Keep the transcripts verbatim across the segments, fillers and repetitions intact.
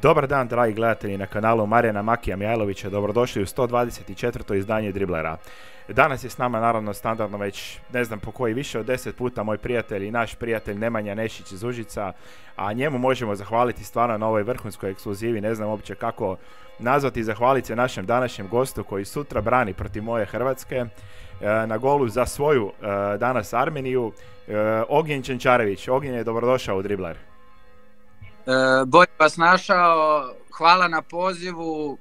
Dobar dan, dragi gledatelji na kanalu Marijana Makija Mijajlovića, dobrodošli u sto dvadeset četvrto izdanje Driblera. Danas je s nama naravno standardno već ne znam po koji više od deset puta moj prijatelj i naš prijatelj Nemanja Nešić iz Užica, a njemu možemo zahvaliti stvarno na ovoj vrhunskoj ekskluzivi, ne znam uopće kako nazvati, zahvaliti se našem današnjem gostu koji sutra brani protiv moje Hrvatske na golu za svoju danas Armeniju, Ognjen Čenčarević. Ognjen je dobrodošao u Dribler. E, bolje vas našao, hvala na pozivu,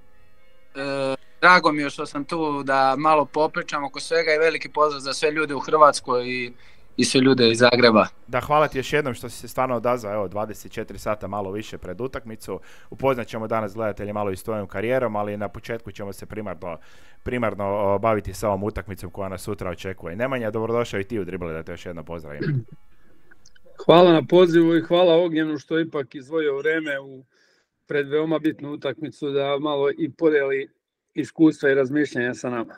e, drago mi je što sam tu da malo popričam oko svega i veliki pozdrav za sve ljude u Hrvatskoj i, i sve ljude iz Zagreba. Da, hvala ti još jednom što si se stvarno odazvao, evo dvadeset četiri sata malo više pred utakmicu. Upoznat ćemo danas gledatelji malo i s tvojom karijerom, ali na početku ćemo se primarno, primarno baviti sa ovom utakmicom koja nas sutra očekuje. Nemanja, dobrodošao i ti u Dribler, da te još jednom pozdravim. Hvala na pozivu i hvala Ognjenu što je ipak izdvojio vreme u pred veoma bitnu utakmicu da malo i podeli iskustva i razmišljanja sa nama.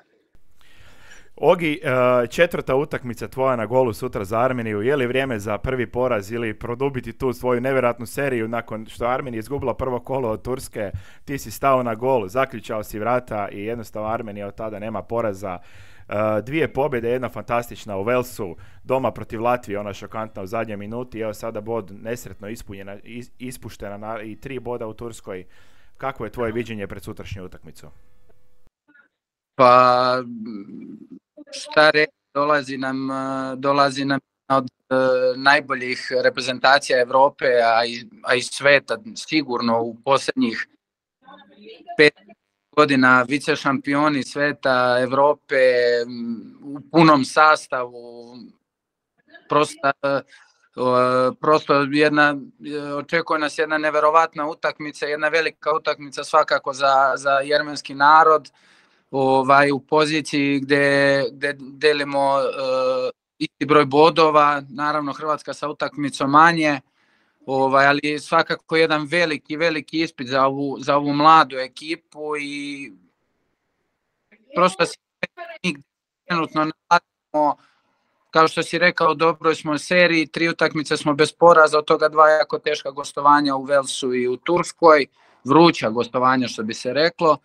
Ogi, četvrta utakmica tvoja na golu sutra za Armeniju, je li vrijeme za prvi poraz ili produbiti tu svoju nevjerojatnu seriju nakon što Armenija izgubila prvo kolo od Turske, ti si stao na gol, zaključao si vrata i jednostavno Armenija od tada nema poraza. Uh, dvije pobjede, jedna fantastična u Velsu, doma protiv Latvije, ona šokantna u zadnjoj minuti, evo sada bod nesretno ispunjena, is, ispuštena na, i tri boda u Turskoj. Kakvo je tvoje viđenje pred sutrašnju utakmicu? Pa šta reći, dolazi nam, dolazi nam od uh, najboljih reprezentacija Europe, a i, a i sveta, sigurno u posljednjih pet godina vice šampioni sveta, Europe, u punom sastavu, prosto, prosto jedna, očekuje nas jedna neverovatna utakmica, jedna velika utakmica svakako za, za jermenski narod, ovaj, u poziciji gdje, gdje delimo uh, isti broj bodova, naravno Hrvatska sa utakmicom manje, Ovaj, ali svakako jedan veliki, veliki ispit za ovu, za ovu mladu ekipu i prosto se trenutno nalazimo, kao što si rekao, dobro smo u seriji, tri utakmice smo bez poraza, od toga dva jako teška gostovanja u Velsu i u Turskoj, vruća gostovanja što bi se reklo.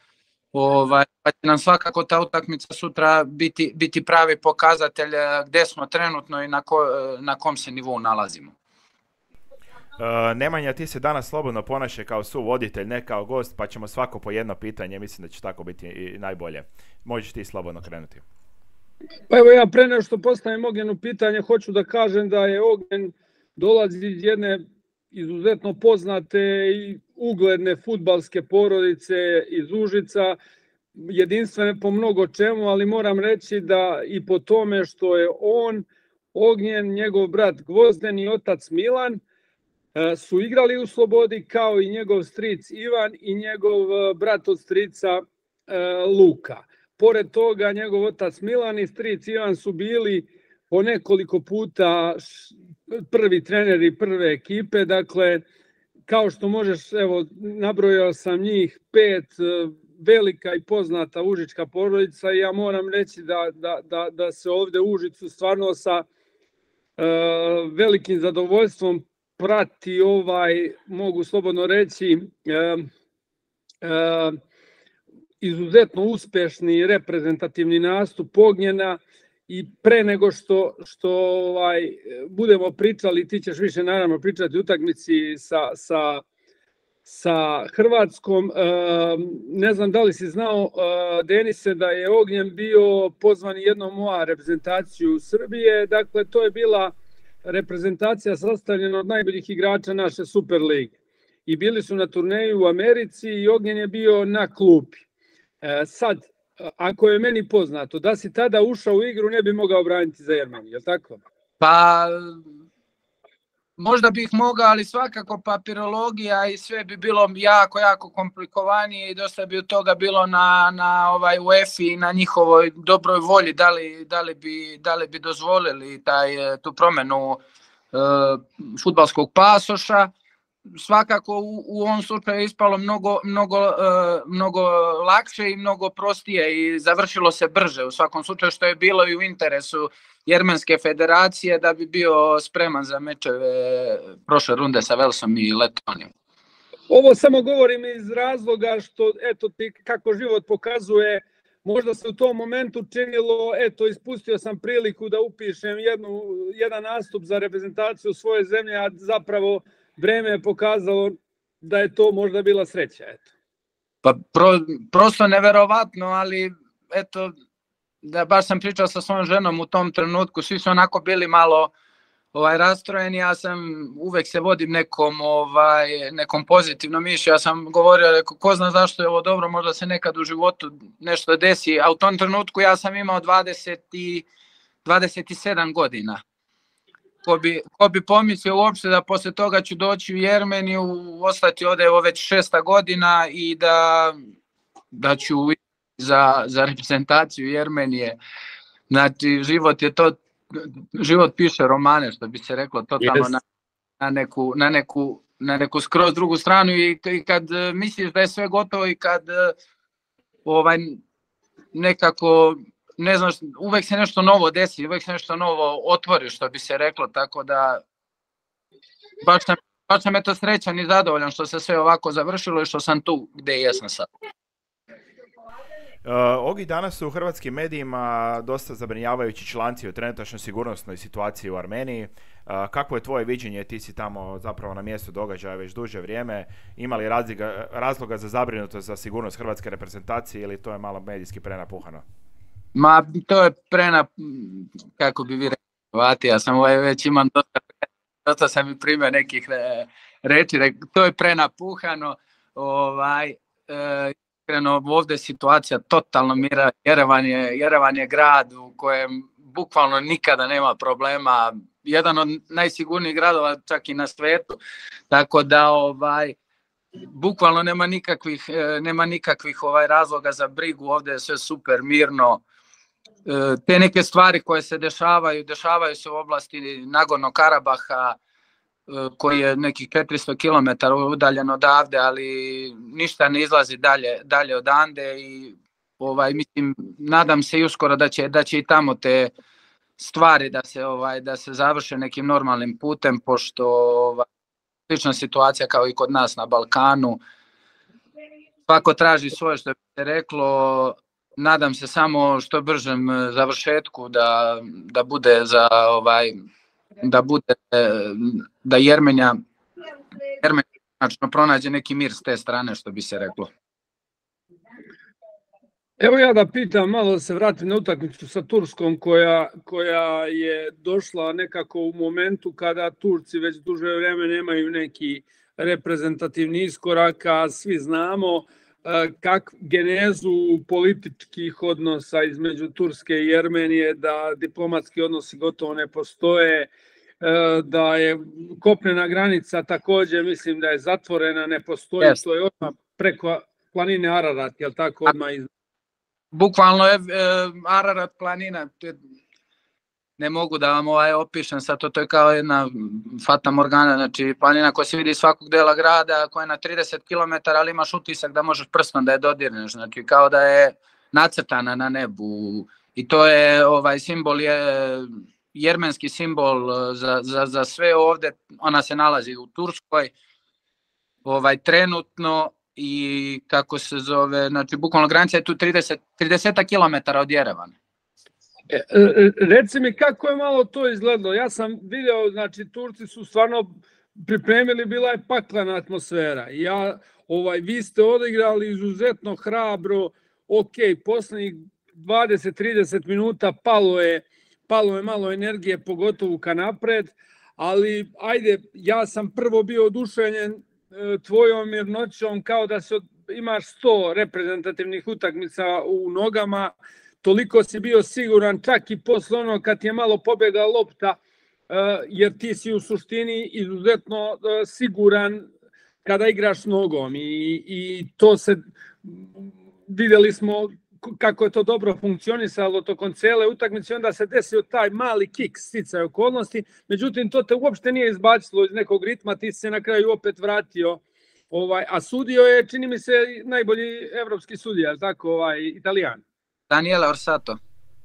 Ovaj, pa će nam svakako ta utakmica sutra biti, biti pravi pokazatelj gdje smo trenutno i na, ko, na kom se nivou nalazimo. Uh, Nemanja, ti se danas slobodno ponašaj kao suvoditelj, ne kao gost, pa ćemo svako po jedno pitanje, mislim da će tako biti i najbolje. Možeš ti slobodno krenuti. Pa evo ja pre nego što postavim Ognjenu pitanje, hoću da kažem da je Ognjen dolazi iz jedne izuzetno poznate i ugledne fudbalske porodice iz Užica, jedinstvene po mnogo čemu, ali moram reći da i po tome što je on, Ognjen, njegov brat Gvozden i otac Milan, su igrali u Slobodi kao i njegov stric Ivan i njegov brat od strica Luka. Pored toga njegov otac Milan i stric Ivan su bili po nekoliko puta prvi treneri prve ekipe, dakle kao što možeš, evo nabrojao sam njih pet, velika i poznata užička porodica i ja moram reći da, da, da, da se ovdje u Užicu stvarno sa uh, velikim zadovoljstvom prati ovaj, mogu slobodno reći, e, e, izuzetno uspešni reprezentativni nastup Ognjena i pre nego što, što ovaj, budemo pričali, ti ćeš više naravno pričati o utakmici sa, sa, sa Hrvatskom. E, ne znam da li si znao, e, Denise, da je Ognjen bio pozvan jednom u reprezentaciju Srbije, dakle to je bila reprezentacija sastavljena od najboljih igrača naše Super lige. I bili su na turneju u Americi i Ognjen je bio na klupi. E, sad, ako je meni poznato, da si tada ušao u igru, ne bi mogao braniti za Jermeniju, je li tako? Pa, možda bih mogao, ali svakako papirologija i sve bi bilo jako, jako komplikovanije i dosta bi od toga bilo na, na ovaj UEFA i na njihovoj dobroj volji, da li, da li, bi, da li bi dozvolili taj, tu promjenu uh, fudbalskog pasoša. Svakako u, u ovom slučaju je ispalo mnogo, mnogo, uh, mnogo lakše i mnogo prostije i završilo se brže u svakom slučaju, što je bilo i u interesu Jermenske federacije da bi bio spreman za mečeve prošle runde sa Velsom i Letonijom. Ovo samo govorim iz razloga što, eto ti, kako život pokazuje, možda se u tom momentu činilo, eto, ispustio sam priliku da upišem jednu, jedan nastup za reprezentaciju svoje zemlje, a zapravo vreme je pokazalo da je to možda bila sreća, eto. Pa pro, prosto neverovatno, ali eto, da baš sam pričao sa svojom ženom u tom trenutku, svi su onako bili malo ovaj rastrojeni, ja sam uvek se vodim nekom ovaj nekom pozitivnom mišlju. Ja sam govorio, rekao, ko zna zašto je ovo dobro, možda se nekad u životu nešto desi, a u tom trenutku ja sam imao dvadeset i dvadeset sedam godina. Ko bi, ko bi pomislio uopšte da posle toga ću doći u Jermeniju, ostati ovde evo već šesta godina i da, da ću za, za reprezentaciju Jermenije. Znači, život je to, život piše romane, što bi se reklo, totalno yes. na, na, neku, na, neku, na neku skroz drugu stranu i, i kad misliš da je sve gotovo i kad ovaj, nekako, ne znaš, uvek se nešto novo desi, uvek se nešto novo otvori, što bi se reklo, tako da baš sam, baš sam eto srećan i zadovoljan što se sve ovako završilo i što sam tu gde jesam sad. Uh, Ogi, danas su u hrvatskim medijima dosta zabrinjavajući članci o trenutačnoj sigurnosnoj situaciji u Armeniji. Uh, kako je tvoje viđenje? Ti si tamo zapravo na mjestu događaja već duže vrijeme. Ima li razloga, razloga za zabrinutost za sigurnost hrvatske reprezentacije ili to je malo medijski prenapuhano? Ma, to je prena, kako bi vi rekli, ja sam ovaj već imam dosta, dosta sam i primio nekih reči, to je prenapuhano, ovaj, e, Iskreno, ovdje je situacija totalno mira. Jerevan je, Jerevan je grad u kojem bukvalno nikada nema problema. Jedan od najsigurnijih gradova čak i na svijetu. Tako da ovaj, bukvalno nema nikakvih, nema nikakvih ovaj razloga za brigu. Ovdje je sve super mirno. Te neke stvari koje se dešavaju, dešavaju se u oblasti Nagornog Karabaha, koji je nekih četiristo kilometara udaljen odavde, ali ništa ne izlazi dalje, dalje odande i ovaj, mislim, nadam se i uskoro da će, da će i tamo te stvari da se, ovaj, da se završe nekim normalnim putem, pošto ovaj, slična situacija kao i kod nas na Balkanu. Svako traži svoje, što bi se reklo. Nadam se samo što bržem završetku da, da bude za ovaj da bude da Jermenija Jermenija znači pronađe neki mir s te strane, što bi se reklo. Evo ja da pitam, malo da se vratim na utakmicu sa Turskom koja, koja je došla nekako u momentu kada Turci već duže vreme nemaju neki reprezentativni iskorak, a svi znamo kak genezu političkih odnosa između Turske i Jermenije, da diplomatski odnosi gotovo ne postoje, da je kopnena granica također, mislim da je zatvorena, ne postoji, yes. To je odmah preko planine Ararat, je li tako odmah iz... Bukvalno je Ararat planina, ne mogu da vam ovaj opišem sad, to, to je kao jedna fata morgana, znači planina koja se vidi iz svakog dela grada, koja je na trideset kilometara, ali imaš utisak da možeš prstom da je dodirneš, znači kao da je nacrtana na nebu i to je ovaj simbol, je jermenski simbol za, za, za sve ovde, ona se nalazi u Turskoj, ovaj trenutno i kako se zove, znači bukvalno granica je tu trideset, trideset kilometara od Jerevana. E, reci mi kako je malo to izgledalo. Ja sam video, znači Turci su stvarno pripremili, bila je paklena atmosfera. Ja, ovaj, vi ste odigrali izuzetno hrabro, ok, poslednjih dvadeset do trideset minuta palo je, palo je malo energije, pogotovo ka napred, ali ajde, ja sam prvo bio oduševljen e, tvojom mirnoćom, kao da se od, imaš sto reprezentativnih utakmica u nogama, toliko si bio siguran, čak i posle ono kad je malo pobjegla lopta, jer ti si u suštini izuzetno siguran kada igraš nogom i, i to se, vidjeli smo kako je to dobro funkcionisalo tokom cele utakmice, onda se desio taj mali kick sticaj okolnosti, međutim to te uopšte nije izbacilo iz nekog ritma, ti se na kraju opet vratio, ovaj, a sudio je, čini mi se, najbolji evropski sudija, tako, ovaj, Italijan. Daniele Orsato.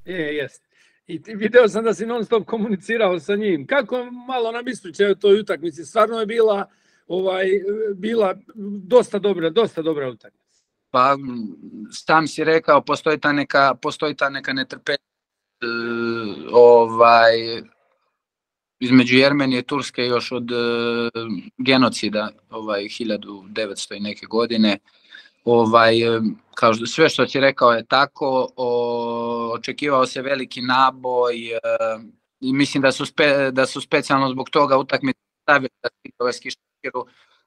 Je, jest. I video sam da si non stop komunicirao sa njim. Kako malo nam ispričaju o toj utakmici? Stvarno je bila ovaj, bila dosta dobra, dosta dobra utakmica. Pa sam si rekao, postoji ta neka, postoji ta neka netrpeljivost ovaj, između Jermenije i Turske još od genocida ovaj, hiljadu devetsto i neke godine. Ovaj, kao sve što si rekao je tako, o, očekivao se veliki naboj i mislim da su, spe, da su specijalno zbog toga utakmice stavili da,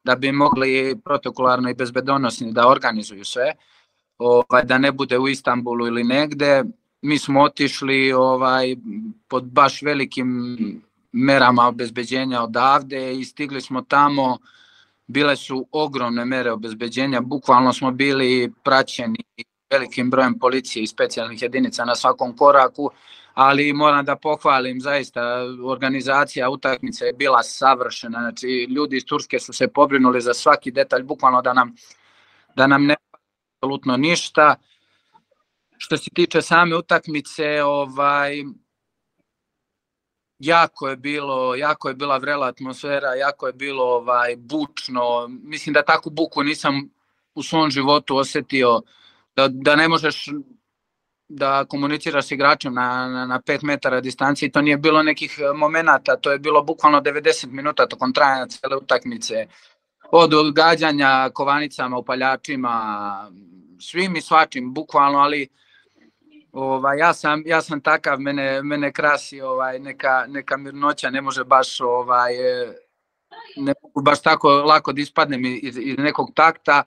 da bi mogli protokolarno i bezbedonosni da organizuju sve, ovaj, da ne bude u Istanbulu ili negde. Mi smo otišli ovaj, pod baš velikim merama obezbeđenja odavde i stigli smo tamo. Bile su ogromne mere obezbeđenja, bukvalno smo bili praćeni velikim brojem policije i specijalnih jedinica na svakom koraku, ali moram da pohvalim, zaista organizacija utakmice je bila savršena, znači ljudi iz Turske su se pobrinuli za svaki detalj, bukvalno da nam, da nam ne apsolutno ništa. Što se tiče same utakmice, ovaj, jako je bilo, jako je bila vrela atmosfera, jako je bilo ovaj, bučno. Mislim da takvu buku nisam u svom životu osetio, da, da ne možeš da komuniciraš s igračem na, na, na pet metara distancije. To nije bilo nekih momenata, to je bilo bukvalno devedeset minuta tokom trajanja cele utakmice. Od odgađanja kovanicama, upaljačima, svim i svačim, bukvalno, ali Ovaj, ja, sam, ja sam takav, mene, mene krasi ovaj, neka, neka mirnoća, ne može baš, ovaj, ne mogu baš tako lako da ispadnem iz, iz nekog takta,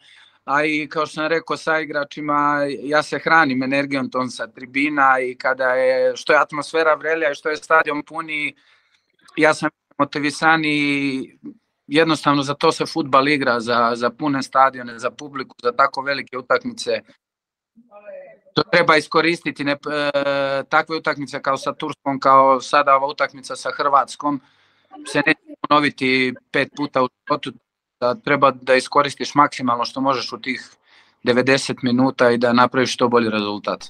a i kao što sam rekao sa igračima, ja se hranim energijom tom sa tribina i kada je, što je atmosfera vrelija i što je stadion puni, ja sam motivisan i jednostavno za to se fudbal igra, za, za pune stadione, za publiku, za tako velike utakmice. To treba iskoristiti, ne, e, takve utakmice kao sa Turskom, kao sada ova utakmica sa Hrvatskom, se neće ponoviti pet puta u životu, da treba da iskoristiš maksimalno što možeš u tih devedeset minuta i da napraviš što bolji rezultat.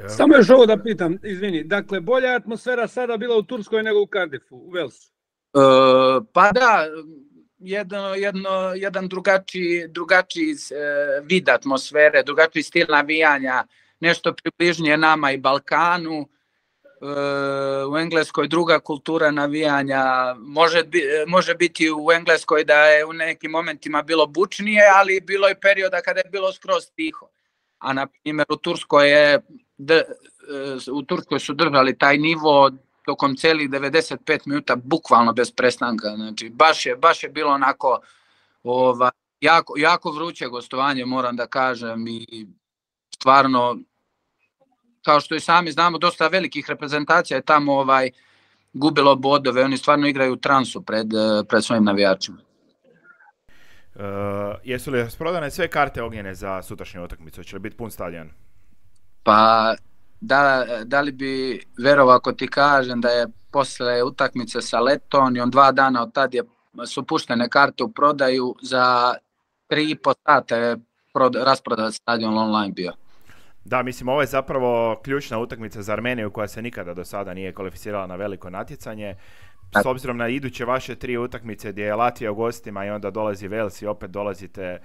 Samo još ovo da pitam, izvini, dakle bolja atmosfera sada bila u Turskoj nego u Cardiffu, u Walesu? E, pa da, jedno, jedno, jedan drugačiji, drugačiji e, vid atmosfere, drugačiji stil navijanja, nešto približnije nama i Balkanu. U Engleskoj druga kultura navijanja, može, može biti u Engleskoj da je u nekim momentima bilo bučnije, ali bilo je perioda kada je bilo skroz tiho. A na primjer u Turskoj, je, u Turskoj su držali taj nivo tokom celih devedeset pet minuta, bukvalno bez prestanka. Znači, baš je, baš je bilo onako ova, jako, jako vruće gostovanje, moram da kažem, i stvarno, kao što i sami znamo, dosta velikih reprezentacija je tamo ovaj, gubilo bodove, oni stvarno igraju u transu pred, pred svojim navijačima. Uh, jesu li rasprodane sve karte Ognjene za sutrašnju utakmicu? Će li biti pun stadion? Pa, da, da li bi verovao ako ti kažem da je posle utakmice sa Letonijom, dva dana od tad je, su puštene karte u prodaju, za tri i po sata je rasprodat stadion online bio. Da, mislim, ovo je zapravo ključna utakmica za Armeniju koja se nikada do sada nije kvalificirala na veliko natjecanje. S obzirom na iduće vaše tri utakmice gdje je Latvija u gostima i onda dolazi Wales i opet dolazite,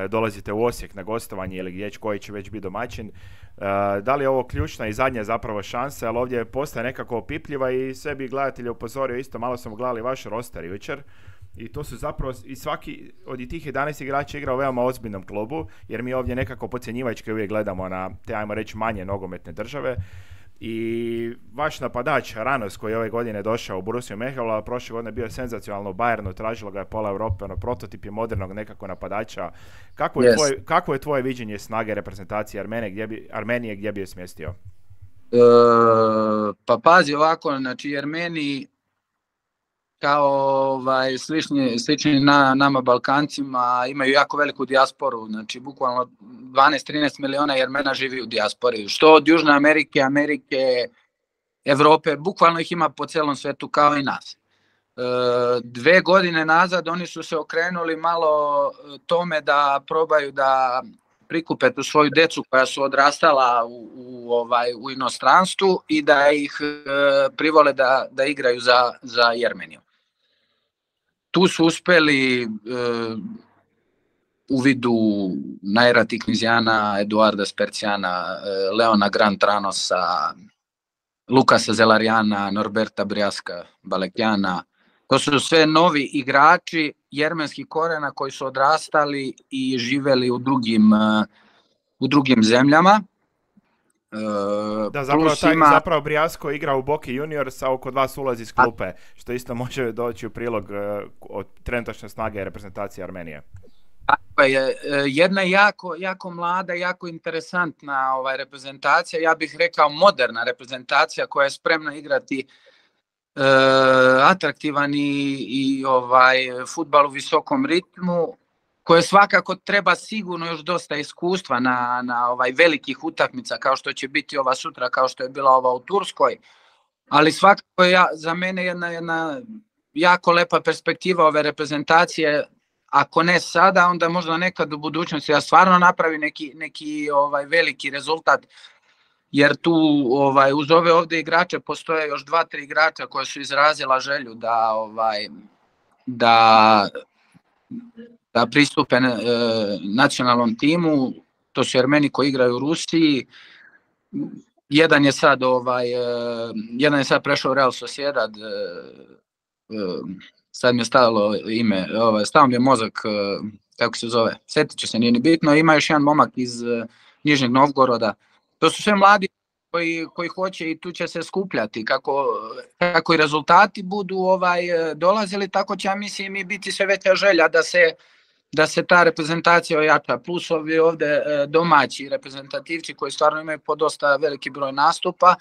dolazite u Osijek na gostovanje ili gdje koji će već biti domaćin. Da li je ovo ključna i zadnja zapravo šansa, ali ovdje postaje nekako opipljiva i sve bi gledatelje upozorio isto, malo smo gledali vaš roster jučer. I to su zapravo, i svaki od tih jedanaest igrača igra u veoma ozbiljnom klubu, jer mi ovdje nekako podcjenjivački uvijek gledamo na te, ajmo reći, manje nogometne države. I vaš napadač Ranos, koji je ove godine došao u Borussiju Mehel, prošle godine bio senzacionalno u Bayernu, tražilo ga je pola Europe, ono, prototip je modernog nekako napadača. Kako je, yes. tvoje, kako je tvoje viđenje snage reprezentacije Armenije, gdje bi, Armenije, gdje bi je smjestio? E, pa pazi ovako, znači Armeniji kao ovaj, slični, slični na, nama Balkancima imaju jako veliku dijasporu, znači bukvalno dvanaest trinaest miliona Jermena živi u dijaspori, što od Južne Amerike, Amerike, Evrope, bukvalno ih ima po celom svetu kao i nas. E, dve godine nazad oni su se okrenuli malo tome da probaju da prikupe tu svoju decu koja su odrastala u, u, ovaj, u inostranstvu i da ih e, privole da, da igraju za, za Jermeniju. tu su uspeli e, u vidu Naira Tiknizijana, Eduarda Spercijana, e, Leona Grantranosa, Lukasa Zelarijana, Norberta Brijaska Balekjana. To su sve novi igrači jermenskih korena koji su odrastali i živeli u drugim, u drugim zemljama. Da, zapravo, taj, ima... zapravo Brijasko igra u Boki Juniors, a kod vas ulazi iz klupe, što isto može doći u prilog od trenutačne snage reprezentacije Armenije. Tako je, jedna jako, jako mlada, jako interesantna ovaj, reprezentacija, ja bih rekao moderna reprezentacija koja je spremna igrati Uh, atraktivan i, i ovaj fudbal u visokom ritmu, koje svakako treba sigurno još dosta iskustva na, na ovaj velikih utakmica kao što će biti ova sutra, kao što je bila ova u Turskoj, ali svakako je ja, za mene jedna, jedna jako lepa perspektiva ove reprezentacije, ako ne sada, onda možda nekad u budućnosti da stvarno napravi neki, neki ovaj veliki rezultat. Jer tu ovaj, uz ove ovdje igrače postoje još dva, tri igrača koja su izrazila želju da, ovaj, da, da pristupe e, nacionalnom timu. To su Armeni koji igraju u Rusiji. Jedan je sad, ovaj, e, jedan je sad prešao u Real Sociedad. E, e, sad mi je stalo ime, ovaj, stao mi je mozak, e, kako se zove, sjetit ću se, nije ni bitno. Ima još jedan momak iz e, Nižnjeg Novgoroda. To su sve mladi koji, koji hoće i tu će se skupljati. Kako, kako i rezultati budu ovaj, dolazili, tako će, ja mislim, i biti sve veća želja da se, da se ta reprezentacija ojača. Plus ovi ovdje domaći reprezentativci koji stvarno imaju po dosta veliki broj nastupa,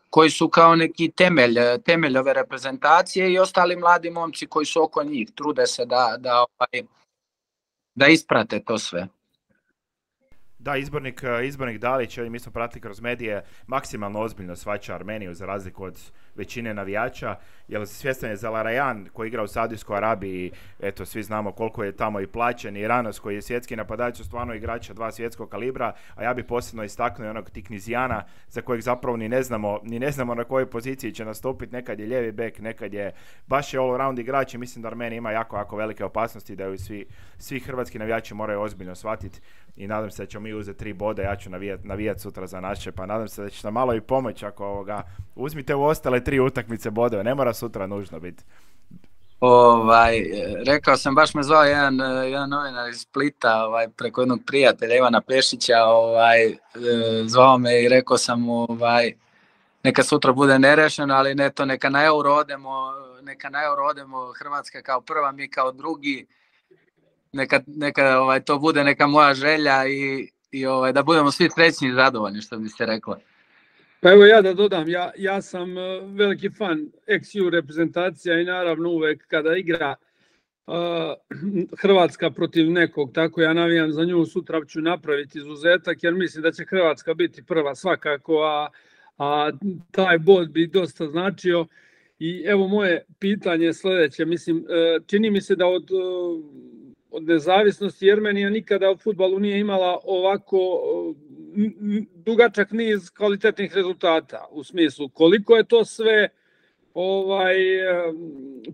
koji su kao neki temelj, temelj ove reprezentacije i ostali mladi momci koji su oko njih. Trude se da, da, ovaj, da isprate to sve. Da, izbornik, izbornik Dalić, mi smo pratili kroz medije, maksimalno ozbiljno shvaća Armeniju za razliku od većine navijača, jer svjestan je Zelarajan koji igra u Saudijskoj Arabiji, eto svi znamo koliko je tamo i plaćen, i Ranos koji je svjetski napadač, su stvarno igrača dva svjetskog kalibra, a ja bi posebno istaknuo i onog Tiknizijana za kojeg zapravo ni ne znamo, ni ne znamo na kojoj poziciji će nastupiti, nekad je lijevi bek, nekad je baš je all round igrač i mislim da Armenija ima jako, jako velike opasnosti da ju svi, svi hrvatski navijači moraju ozbiljno shvatiti i nadam se da ćemo mi uzeti tri boda, ja ću navijati navijat sutra za naše, pa nadam se da će nam malo i pomoći ako ovoga, uzmite u ostale tri utakmice bodove, ne mora sutra nužno biti. Ovaj, rekao sam, baš me zvao jedan, jedan novinar iz Splita, ovaj, preko jednog prijatelja Ivana Pešića, ovaj, zvao me i rekao sam mu, ovaj, neka sutra bude nerešeno, ali ne to, neka na euro odemo, neka na euro odemo, Hrvatska kao prva, mi kao drugi, neka, neka ovaj, to bude neka moja želja i, i ovaj, da budemo svi srećni i zadovoljni, što bi se reklo. Pa evo ja da dodam, ja, ja sam veliki fan ex ju reprezentacija i naravno uvek kada igra uh, Hrvatska protiv nekog, tako ja navijam za nju, sutra ću napraviti izuzetak jer mislim da će Hrvatska biti prva svakako, a, a taj bod bi dosta značio. I evo moje pitanje je sljedeće, mislim, čini mi se da od, od nezavisnosti Jermenija nikada u fudbalu nije imala ovako dugačak niz kvalitetnih rezultata, u smislu koliko je to sve ovaj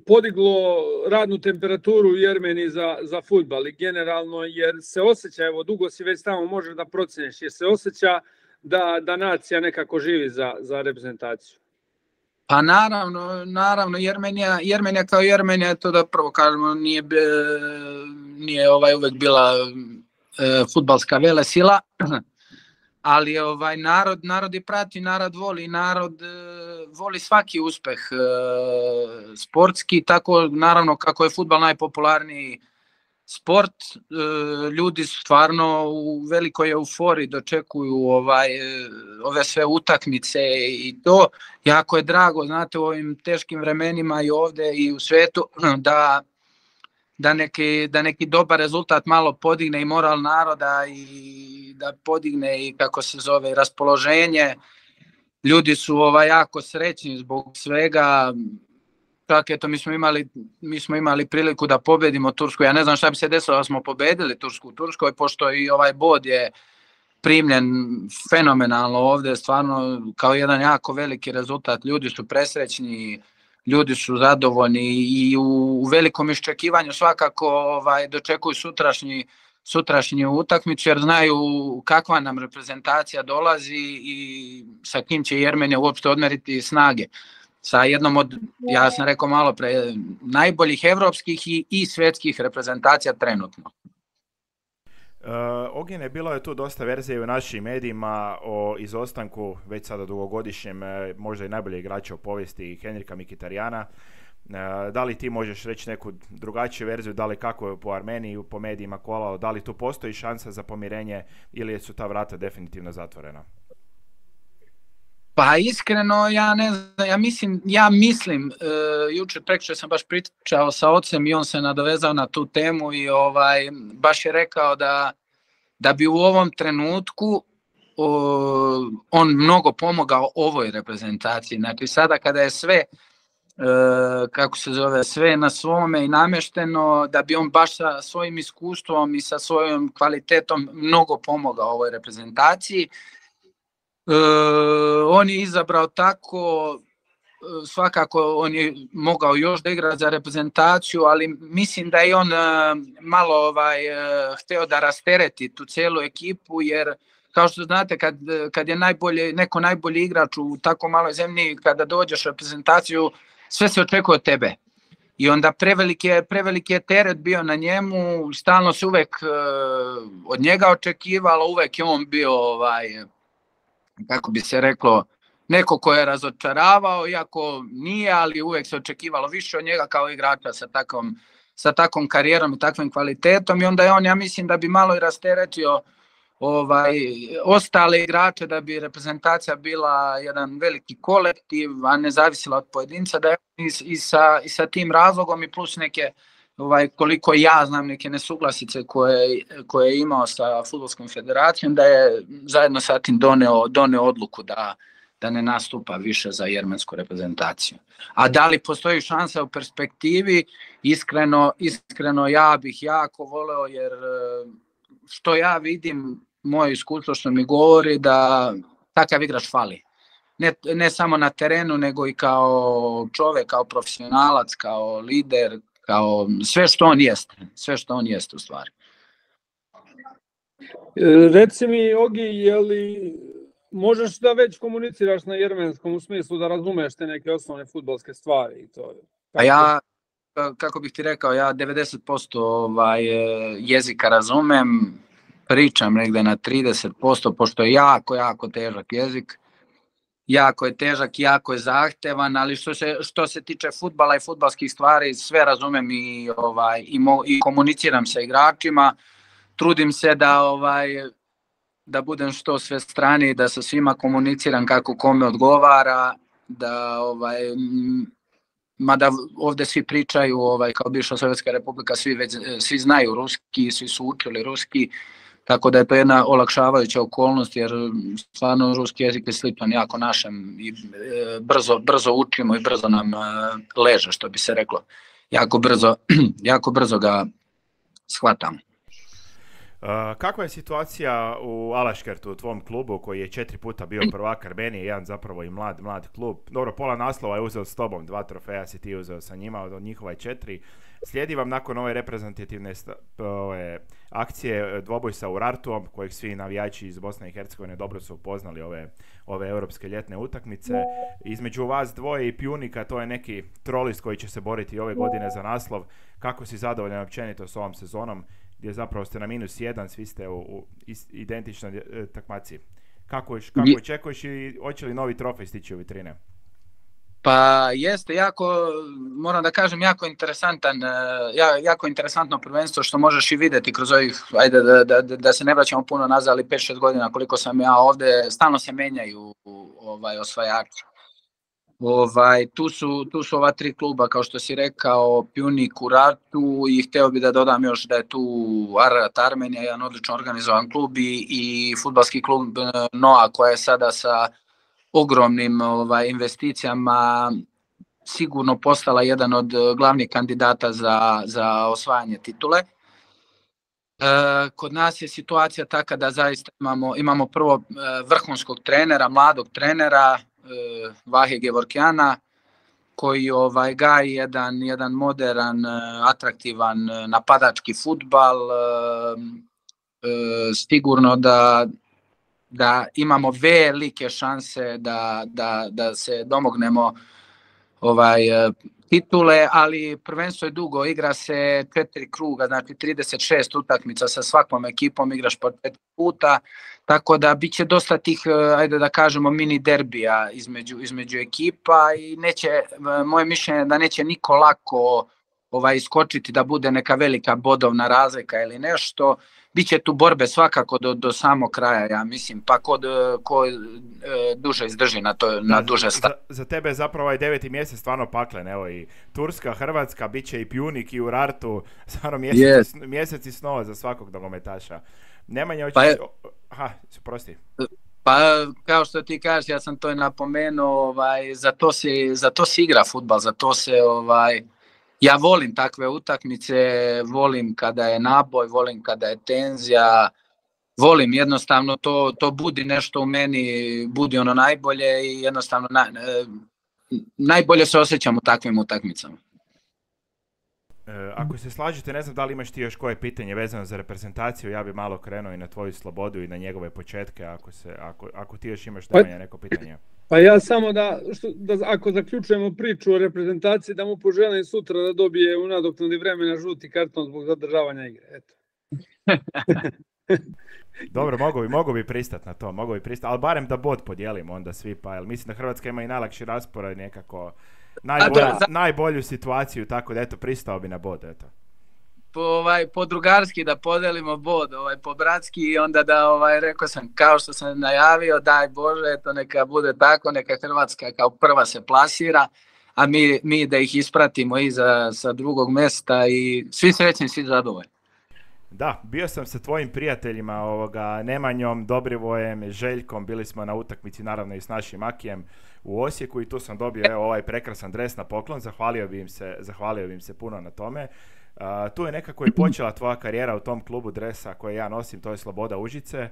podiglo radnu temperaturu u Jermeniji za, za fudbal i generalno, jer se osjeća, evo dugo si već tamo, možeš da proceniš, jer se osjeća da, da nacija nekako živi za, za reprezentaciju. Pa naravno, naravno Jermenija, Jermenija kao Jermenija, to da prvo kažemo, nije, nije ovaj uvek bila e, fudbalska velesila, ali ovaj narod, narod je prati, narod voli, narod e, voli svaki uspeh e, sportski, tako naravno kako je fudbal najpopularniji sport, e, ljudi stvarno u velikoj euforiji dočekuju ovaj, e, ove sve utakmice i to. Jako je drago, znate, u ovim teškim vremenima i ovdje i u svijetu da, da, neki, da neki dobar rezultat malo podigne i moral naroda i da podigne i kako se zove raspoloženje. Ljudi su ovaj, jako srećni zbog svega. Čak eto, mi smo imali, mi smo imali priliku da pobedimo Tursku. Ja ne znam šta bi se desilo da smo pobedili Tursku u Turskoj, pošto i ovaj bod je primljen fenomenalno ovdje, stvarno kao jedan jako veliki rezultat. Ljudi su presrećni, ljudi su zadovoljni i u, u velikom iščekivanju svakako ovaj, dočekuju sutrašnji, sutrašnju utakmicu jer znaju kakva nam reprezentacija dolazi i sa kim će Jermenija uopšte odmeriti snage. Sa jednom od, ja sam rekao malo pre, najboljih evropskih i, i svjetskih reprezentacija trenutno. Uh, Ognjene, bilo je tu dosta verzije u našim medijima o izostanku već sada dugogodišnjem, možda i najbolje igrača u povijesti Henrika Mkhitarjana. Uh, da li ti možeš reći neku drugačiju verziju, da li kako je po Armeniji, po medijima kolao, da li tu postoji šansa za pomirenje ili su ta vrata definitivno zatvorena? Pa iskreno, ja ne znam, ja mislim, ja mislim, e, jučer prekjučer sam baš pričao sa ocem i on se nadovezao na tu temu i ovaj, baš je rekao da, da bi u ovom trenutku o, on mnogo pomogao ovoj reprezentaciji. Znači sada kada je sve, e, kako se zove, sve na svome i namešteno, da bi on baš sa svojim iskustvom i sa svojom kvalitetom mnogo pomogao ovoj reprezentaciji. Uh, on je izabrao tako, uh, svakako on je mogao još da igra za reprezentaciju, ali mislim da je on uh, malo ovaj, uh, hteo da rastereti tu cijelu ekipu, jer kao što znate kad, kad je najbolje, neko najbolji igrač u tako maloj zemlji, kada dođeš u reprezentaciju, sve se očekuje od tebe. I onda preveliki je, preveliki je teret bio na njemu, stalno se uvek uh, od njega očekivalo, uvek je on bio ovaj, kako bi se reklo, neko ko je razočaravao, iako nije, ali uvek se očekivalo više od njega kao igrača sa takvom, sa takvom karijerom i takvim kvalitetom i onda je on, ja mislim da bi malo i rasteretio ovaj, ostale igrače, da bi reprezentacija bila jedan veliki kolektiv, a ne zavisila od pojedinca, da je i, i, sa, i sa tim razlogom i plus neke, ovaj, koliko ja znam, neke nesuglasice koje, koje je imao sa Fudbalskom federacijom, da je zajedno sa tim doneo, doneo odluku da, da ne nastupa više za jermensku reprezentaciju. A da li postoji šansa u perspektivi? Iskreno, iskreno ja bih jako voleo, jer što ja vidim, moje iskustvo što mi govori da takav igrač fali. Ne, ne samo na terenu, nego i kao čovjek, kao profesionalac, kao lider, kao sve što on jeste, sve što on jeste u stvari. Reci mi, Ogi, je li možeš da već komuniciraš na jermenskom u smislu da razumeš te neke osnovne fudbalske stvari i to? A ja, kako bih ti rekao, ja devedeset posto ovaj, jezika razumem, pričam negde na trideset posto, pošto je jako, jako težak jezik. Jako je težak, jako je zahtevan, ali što se, što se tiče fudbala i fudbalskih stvari, sve razumem i, ovaj, i, mo, i komuniciram sa igračima. Trudim se da, ovaj, da budem što sve strani, da sa svima komuniciram kako kome odgovara, da ovaj, mada ovde svi pričaju, ovaj, kao bivša Sovjetska republika, svi, već, svi znaju ruski, svi su učili ruski, tako da je to jedna olakšavajuća okolnost, jer stvarno ruski jezik je sličan jako našem i e, brzo, brzo učimo i brzo nam e, leže, što bi se reklo. Jako brzo, jako brzo ga shvatamo. Uh, kakva je situacija u Alaškertu, u tvom klubu koji je četiri puta bio prvak Armenije, jedan zapravo i mlad, mlad klub. Dobro, pola naslova je uzeo s tobom, dva trofeja si ti uzeo sa njima, od njihova je četiri. Slijedi vam nakon ove reprezentativne ove akcije dvoboj sa Urartuom, kojeg svi navijači iz Bosne i Hercegovine dobro su upoznali ove, ove europske ljetne utakmice. Između vas dvoje i Pjunika, to je neki trolist koji će se boriti ove godine za naslov. Kako si zadovoljan općenito s ovom sezonom, gdje zapravo ste na minus jedan, svi ste u, u identičnoj e, takmaci. Kako, kako očekuješ i hoće li novi trofej stići u vitrine? Pa jeste, jako, moram da kažem, jako interesantan, jako interesantno prvenstvo što možeš i vidjeti kroz ovih, ajde da, da, da se ne vraćamo puno nazad, ali pet šest godina koliko sam ja ovde, stalno se menjaju ovaj, osvajači. Ovaj, tu, su, tu su ova tri kluba, kao što si rekao, Pjunik, Urartu i hteo bi da dodam još da je tu Ararat Armenija, jedan odlično organizovan klub i, i fudbalski klub Noa koja je sada sa ogromnim ovaj, investicijama sigurno postala jedan od glavnih kandidata za, za osvajanje titule. E, kod nas je situacija taka da zaista imamo, imamo prvo vrhunskog trenera, mladog trenera, Vahe Gevorkjana, koji ovaj gaji jedan jedan modern, atraktivan napadački fudbal. Sigurno da da imamo velike šanse da da da se domognemo ovaj titule, ali prvenstvo je dugo, igra se četiri kruga, znači trideset šest utakmica, sa svakom ekipom igraš po četiri puta, tako da biće dosta tih, ajde da kažemo, mini derbija između između ekipa i neće, moje mišljenje da neće niko lako ovaj iskočiti da bude neka velika bodovna razlika ili nešto. Biće tu borbe svakako do, do samog kraja, ja mislim, pa ko, ko e, duže izdrži na, to, na duže stav. Za, za tebe je zapravo ovaj deveti mjesec stvarno paklen, evo i Turska, Hrvatska, bit će i Pjunik i Urartu, stvarno mjeseci, yes. mjeseci snova za svakog nogometaša. Nemanja, pa je, aha, prosti. Pa kao što ti kažeš, ja sam to i napomenuo, ovaj, za to se, za to se igra fudbal, za to se ovaj, ja volim takve utakmice, volim kada je naboj, volim kada je tenzija, volim jednostavno to, to budi nešto u meni, budi ono najbolje i jednostavno na, najbolje se osjećam u takvim utakmicama. E, ako se slažete, ne znam da li imaš ti još koje pitanje vezano za reprezentaciju, ja bi malo krenuo i na tvoju slobodu i na njegove početke, ako, se, ako, ako ti još imaš Nemanja neko pitanje. Pa ja samo da, što, da ako zaključujemo priču o reprezentaciji, da mu poželim sutra da dobije u nadoknadi vremena žuti karton zbog zadržavanja igre. Eto. Dobro, mogu bi, mogu bi pristat na to, mogu bi pristat, ali barem da bod podijelimo onda svi, pa jel mislim da Hrvatska ima i najlakši raspored, nekako najbolju, najbolju situaciju, tako da eto, pristao bi na bod, eto. Po, ovaj, po drugarski da podelimo bod, ovaj, po bratski i onda da, ovaj, rekao sam, kao što sam najavio, daj Bože, eto, neka bude tako, neka Hrvatska kao prva se plasira, a mi, mi da ih ispratimo iza sa drugog mjesta i svi srećni, svi zadovoljni. Da, bio sam sa tvojim prijateljima, ovoga, Nemanjom, Dobrivojem, Željkom, bili smo na utakmici naravno i s našim Akijem u Osijeku i tu sam dobio evo, ovaj prekrasan dres na poklon, zahvalio bi im se, zahvalio bi im se puno na tome. Uh, tu je nekako i počela tvoja karijera u tom klubu dresa koje ja nosim, to je Sloboda Užice,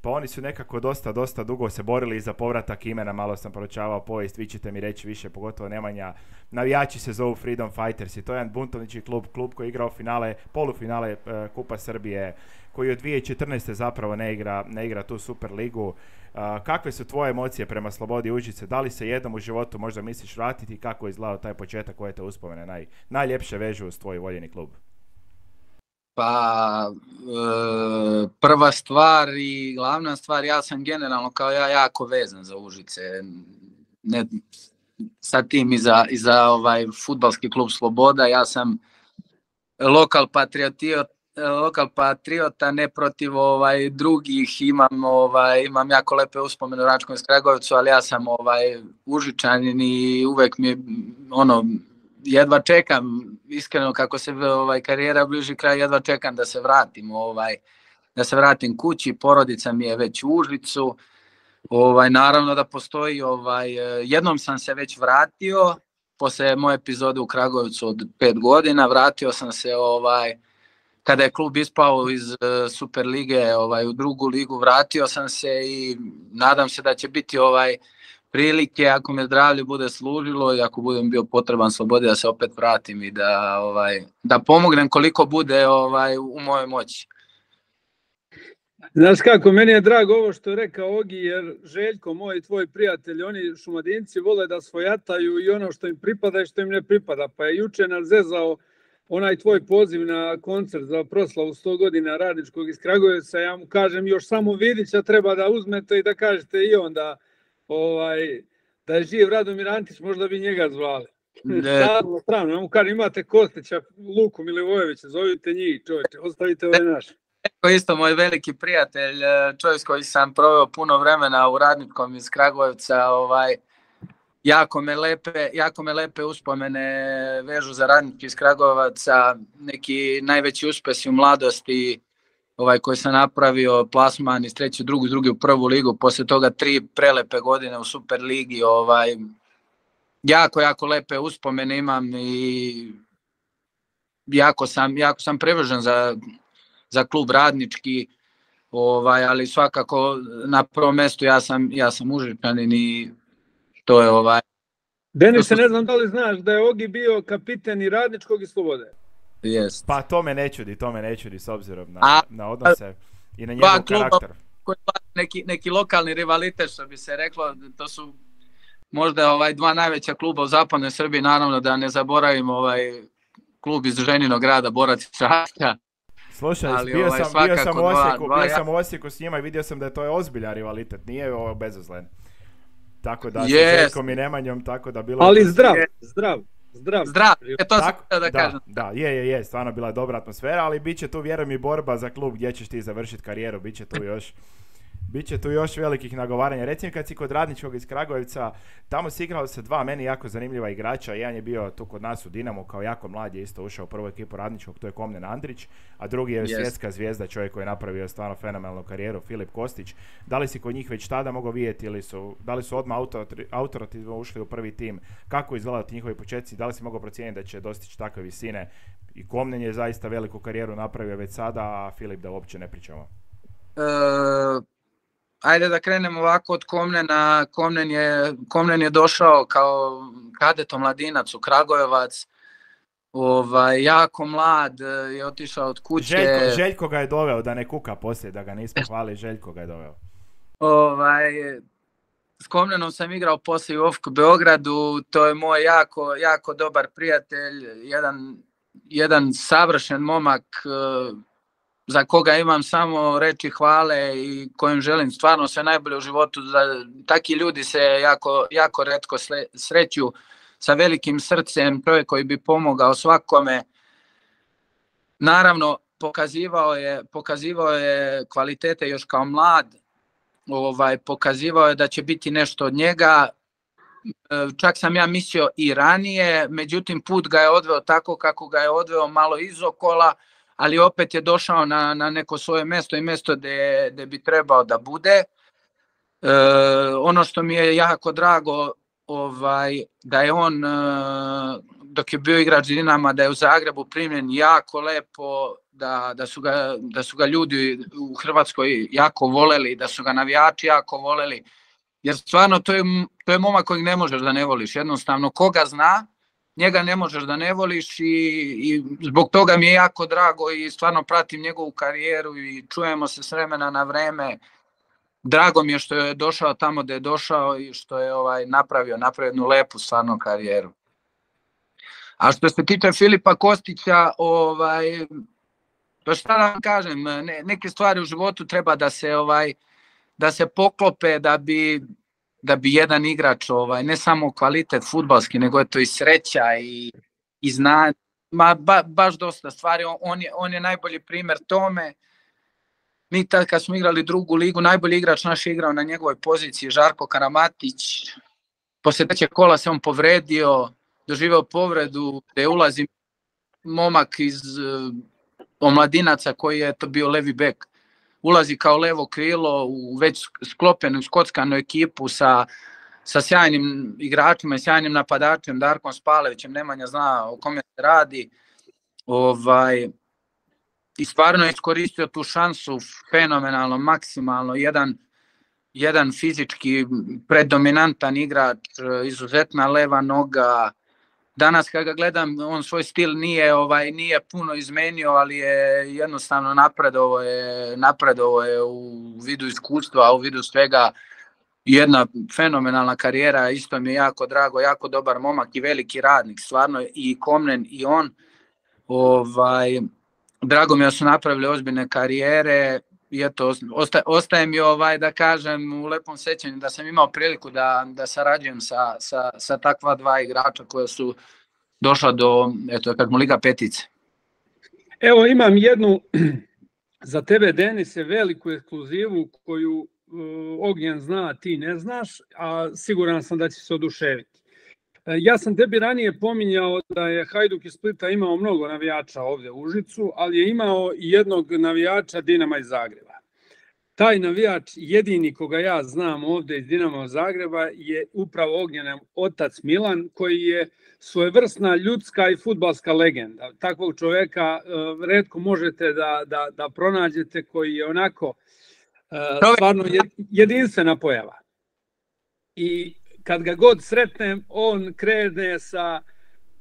pa oni su nekako dosta, dosta dugo se borili za povratak imena, malo sam proučavao povijest, vi ćete mi reći više, pogotovo Nemanja, navijači se zovu Freedom Fighters i to je jedan buntovnički klub, klub koji je igrao finale, polufinale uh, Kupa Srbije, koji od dvije tisuće četrnaeste zapravo ne igra, ne igra tu Super ligu. Uh, kakve su tvoje emocije prema Slobodi Užice? Da li se jednom u životu možda misliš vratiti i kako je izgledao taj početak, koje te uspomene naj, najljepše vežu uz tvoj voljeni klub? Pa e, prva stvar i glavna stvar, ja sam generalno kao ja jako vezan za Užice. Ne, sa tim i za, i za ovaj fudbalski klub Sloboda, ja sam lokal patriotio, lokal patriota, ne protiv ovaj drugih, imam ovaj imam jako lepe uspomene u Račkom Kragujevcu, ali ja sam ovaj Užičanin i uvek mi ono jedva čekam, iskreno kako se ovaj karijera bliži kraju, jedva čekam da se vratim, ovaj da se vratim kući, porodica mi je već u Užicu. Ovaj naravno da postoji ovaj jednom sam se već vratio posle moje epizode u Kragujevcu od pet godina, vratio sam se ovaj kada je klub ispao iz uh, Super lige ovaj u drugu ligu, vratio sam se i nadam se da će biti ovaj prilike, ako me zdravlje bude služilo i ako budem bio potreban Slobodi, da se opet vratim i da ovaj da pomognem koliko bude ovaj u mojoj moći. Znaš kako, meni je drago ovo što je rekao Ogi, jer Željko, moj tvoj prijatelj, oni Šumadinci vole da svojataju i ono što im pripada i što im ne pripada, pa je juče nas zezao onaj tvoj poziv na koncert za proslavu sto godina Radničkog iz Kragujevca. Ja mu kažem, još samo Vidića treba da uzmete i da kažete i onda ovaj, da je živ Radomir Antić, možda bi njega zvali. Stavno, strano, ja mu kažem, imate Kostića, Luku Milivojevića, zovite njih, čovječe, ostavite ove naše. Eko isto moj veliki prijatelj, čovjek s koji sam proveo puno vremena u Radničkom iz Kragujevca, ovaj, jako me lepe, jako me lepe uspomene vežu za Radnički iz Kragujevaca, neki najveći uspesi u mladosti, ovaj koji sam napravio, plasman iz treće u drugu, drugi u prvu ligu, posle toga tri prelepe godine u Super ligi, ovaj jako jako lepe uspomene imam i jako sam jako sam privržen za za klub Radnički, ovaj ali svakako na prvom mjestu ja sam ja sam Užičanin i to je ovaj Denise, ne znam da li znaš da je Ogi bio kapiten i Radničkog i Slobode. Jest. Pa to me ne čudi, to me ne čudi s obzirom na, A, na odnose i na njegov karakter. Koji neki, neki lokalni rivalitet, što bi se reklo, to su možda ovaj dva najveća kluba u zapadnoj Srbiji, naravno da ne zaboravimo ovaj klub iz Ženinog grada, Borac Čačka. Slušaj, ali, bio, ovaj, sam, bio sam u Osijeku, dva, dva, bio sam u Osijeku s njima i vidio sam da je to je ozbiljan rivalitet, nije ovo bezazlen. Tako da, yes. sa Željkom i Nemanjom, tako da bilo... Ali zdrav, zdrav, zdrav. Zdrav, e, to tako, sam da, da kažem. Da, je, je, je, stvarno bila dobra atmosfera, ali bit će tu, vjerujem, i borba za klub gdje ćeš ti završiti karijeru, bit će tu još... Biće tu još velikih nagovaranja. Recimo kad si kod Radničkog iz Kragujevca, tamo si igralo se dva meni jako zanimljiva igrača. Jedan je bio tu kod nas u Dinamo kao jako mlad, je isto ušao u prvu ekipu Radničkog, to je Komnen Andrić, a drugi je yes. svjetska zvijezda, čovjek koji je napravio stvarno fenomenalnu karijeru, Filip Kostić. Da li si kod njih već tada mogao vidjeti ili su, da li su odmah autoritativno ušli u prvi tim? Kako izgledaju njihovi početci? Da li si mogao procijeniti da će dostići takve visine? I Komnen je zaista veliku karijeru napravio već sada, a Filip da uopće ne pričamo. Uh... Ajde da krenemo ovako od Komnena. Komnen je, Komnen je došao kao kadet omladinac u Kragujevac. Ovaj, jako mlad, je otišao od kuće. Željko, Željko ga je doveo, da ne kuka poslije, da ga nismo hvali, Željko ga je doveo. Ovaj, s Komnenom sam igrao poslije u O F K Beogradu, to je moj jako, jako dobar prijatelj, jedan, jedan savršen momak, za koga imam samo reči hvale i kojem želim stvarno sve najbolje u životu. Taki ljudi se jako, jako retko sreću, sa velikim srcem, čovjek koji bi pomogao svakome. Naravno, pokazivao je, pokazivao je kvalitete još kao mlad, ovaj, pokazivao je da će biti nešto od njega. Čak sam ja mislio i ranije, međutim put ga je odveo tako kako ga je odveo, malo izokola, ali opet je došao na, na neko svoje mjesto i mjesto gdje, gdje bi trebao da bude. E, ono što mi je jako drago, ovaj, da je on, dok je bio igrač Dinama, da je u Zagrebu primljen jako lepo, da, da, su ga, da su ga ljudi u Hrvatskoj jako voljeli, da su ga navijači jako voljeli, jer stvarno to je, to je momak kojeg ne možeš da ne voliš, jednostavno koga zna, njega ne možeš da ne voliš i, i zbog toga mi je jako drago i stvarno pratim njegovu karijeru i čujemo se s vremena na vreme. Drago mi je što je došao tamo gdje je došao i što je ovaj napravio, napravio jednu lepu stvarno karijeru. A što se tiče Filipa Kostića, ovaj, to šta da vam kažem, ne, neke stvari u životu treba da se, ovaj, da se poklope da bi... da bi jedan igrač, ovaj, ne samo kvalitet fudbalski, nego je to i sreća i, i znanje, ma ba, baš dosta stvari, on je, on je najbolji primjer tome. Mi tad kad smo igrali drugu ligu, najbolji igrač naš je igrao na njegovoj poziciji, Žarko Karamatić. Poslije trećeg kola se on povredio, doživeo povredu, gdje ulazi momak iz uh, omladinaca koji je to bio levi bek. Ulazi kao levo krilo u već sklopenu skockanu ekipu sa, sa sjajnim igračima i sjajnim napadačem, Darkom Spalevićem, Nemanja zna o kome se radi. Ovaj, i stvarno je iskoristio tu šansu fenomenalno, maksimalno. Jedan, jedan fizički predominantan igrač, izuzetna leva noga. Danas kad ga gledam, on svoj stil nije, ovaj, nije puno izmenio, ali je jednostavno napredovo je, napredovo je u vidu iskustva, u vidu svega. Jedna fenomenalna karijera, isto mi je jako drago, jako dobar momak i veliki radnik, stvarno i Komnen i on. Ovaj, drago mi je da su napravili ozbiljne karijere i eto, ostaje, ostaje mi ovaj, da kažem u lepom sećanju da sam imao priliku da, da sarađujem sa, sa, sa takva dva igrača koja su došla do, eto, kad mu Liga petice. Evo imam jednu za tebe, Denise, veliku ekskluzivu koju uh, Ognjen zna, ti ne znaš, a siguran sam da će se oduševiti. Ja sam tebi ranije pominjao da je Hajduk iz Splita imao mnogo navijača ovdje u Užicu, ali je imao i jednog navijača Dinama iz Zagreba. Taj navijač, jedini koga ja znam ovdje iz Dinama Zagreba, je upravo Ognjenov otac Milan, koji je svojevrsna ljudska i fudbalska legenda. Takvog čovjeka uh, retko možete da, da, da pronađete, koji je onako uh, stvarno jedinstvena pojava. I kad ga god sretnem, on krene sa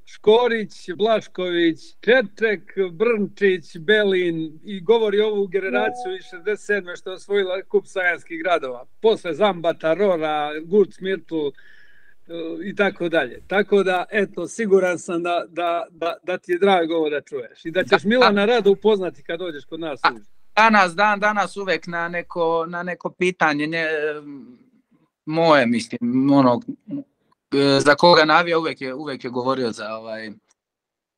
Škorić, Blašković, Čeček, Brnčić, Belin i govori ovu generaciju iz šezdeset sedme što je osvojila kup Sajanskih gradova. Posle Zambata, Rora, Guc, Mirtu i tako dalje. Tako da, eto, siguran sam da, da, da, da ti je drago ovo da čuješ i da ćeš Milana rado upoznati kad dođeš kod nas. Danas, dan, danas uvek na neko, na neko pitanje ne, moje, mislim, ono, za koga navija uvek je, uvek je govorio za ovaj,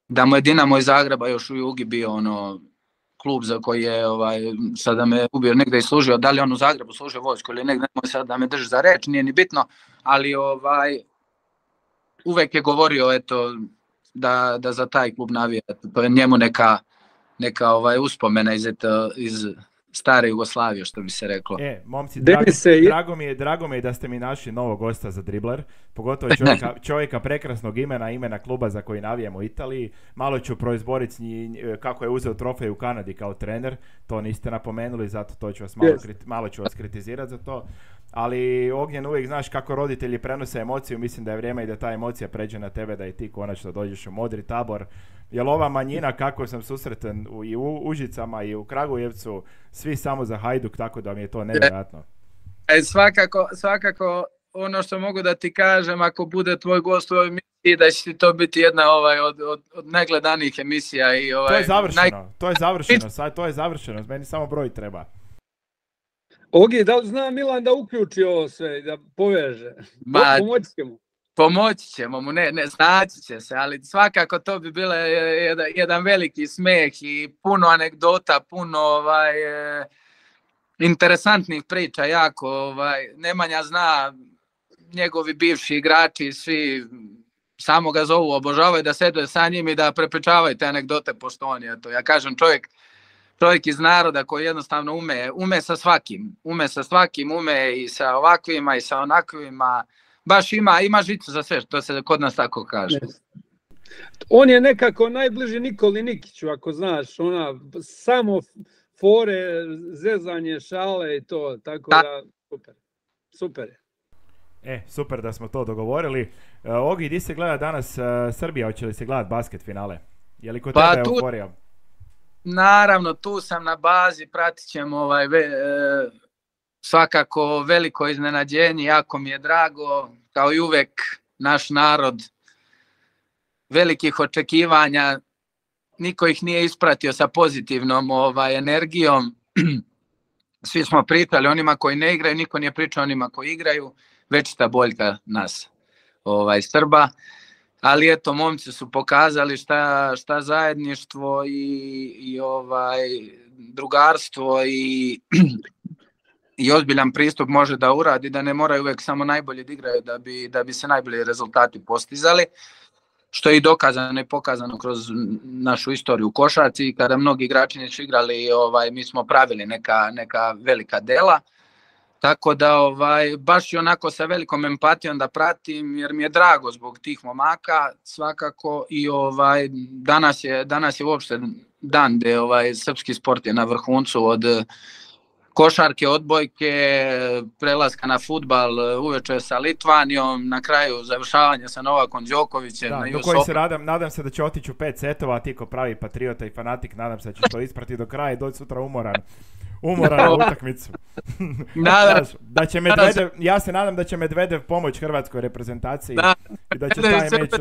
da mu je Dinamo iz Zagreba još u Jugi bio ono klub za koji je ovaj, sada me ubio negdje i služio, da li on u Zagrebu služio vojsku ili negdje, nemoj sad da me drži za reč, nije ni bitno, ali ovaj, uvek je govorio eto, da, da za taj klub navija, to je njemu neka, neka ovaj, uspomena iz, eto, iz stare Jugoslavije, što bi se reklo. E, momci, drago, drago, mi je, drago mi je da ste mi našli novog gosta za Dribler, pogotovo čovjeka, čovjeka prekrasnog imena, imena kluba za koji navijemo u Italiji. Malo ću proizboriti kako je uzeo trofej u Kanadi kao trener, to niste napomenuli, zato to ću vas malo, yes. kriti, malo ću vas kritizirati za to. Ali Ognjen, uvijek znaš kako roditelji prenose emociju, mislim da je vrijeme i da ta emocija pređe na tebe, da i ti konačno dođeš u modri tabor. Jer ova manjina, kako sam susretan u, i u Užicama i u Kragujevcu, svi samo za Hajduk, tako da mi je to nevjerojatno. E, svakako, svakako ono što mogu da ti kažem, ako bude tvoj gost u ovoj emisiji, da će to biti jedna ovaj, od, od, od najgledanijih emisija. I, ovaj, to je završeno, naj... to je završeno, sad to je završeno, meni samo broj treba. Ogi, da li zna Milan da uključi ovo sve, da poveže? Ma, pomoći ćemo. Pomoći ćemo mu, ne, ne, znaći će se, ali svakako to bi bilo jedan, jedan veliki smeh i puno anegdota, puno ovaj, e, interesantnih priča, jako. Ovaj, Nemanja zna, njegovi bivši igrači, svi samo ga zovu, obožavaju da sede sa njim i da prepričavaju te anegdote, pošto on je to. Ja kažem, čovjek, čovjek iz naroda koji jednostavno ume, ume sa svakim, ume sa svakim, ume i sa ovakvima i sa onakvima. Baš ima, ima žicu za sve, to se kod nas tako kaže. On je nekako najbliži Nikoli Nikiću, ako znaš, ona samo fore, zezanje, šale i to, tako da, da super, super je. E, super da smo to dogovorili. Uh, Ogi, di se gleda danas uh, Srbija, hoće li se gledati basket finale? Je li kod pa tebe euforija? Naravno, tu sam na bazi, pratit ćemo ovaj... Ve, e, svakako veliko iznenađenje, jako mi je drago, kao i uvek naš narod, velikih očekivanja, niko ih nije ispratio sa pozitivnom ovaj, energijom, svi smo pričali onima koji ne igraju, niko nije pričao onima koji igraju, večita boljka nas ovaj, Srba, ali eto, momci su pokazali šta, šta zajedništvo i, i ovaj, drugarstvo i i ozbiljan pristup može da uradi, da ne moraju uvek samo najbolje da igraju da bi, da bi se najbolji rezultati postizali, što je i dokazano i pokazano kroz našu istoriju u košarci, kada mnogi igrači nisu igrali, ovaj, mi smo pravili neka, neka velika dela, tako da ovaj, baš i onako sa velikom empatijom da pratim, jer mi je drago zbog tih momaka, svakako i ovaj, danas, je, danas je uopšte dan gde ovaj, srpski sport je na vrhuncu od košarke, odbojke, prelaska na fudbal uveče sa Litvanijom, na kraju završavanja sa Novakom Đokovićem. Da, na do koji se nadam, nadam se da će otići u pet setova, a ti ko pravi patriota i fanatik, nadam se da ćeš to isprati do kraja i doći sutra umoran. Umoran na utakmicu. Nadam, da će Medvedev, ja se nadam da će Medvedev pomoć hrvatskoj reprezentaciji da, i da će taj meč...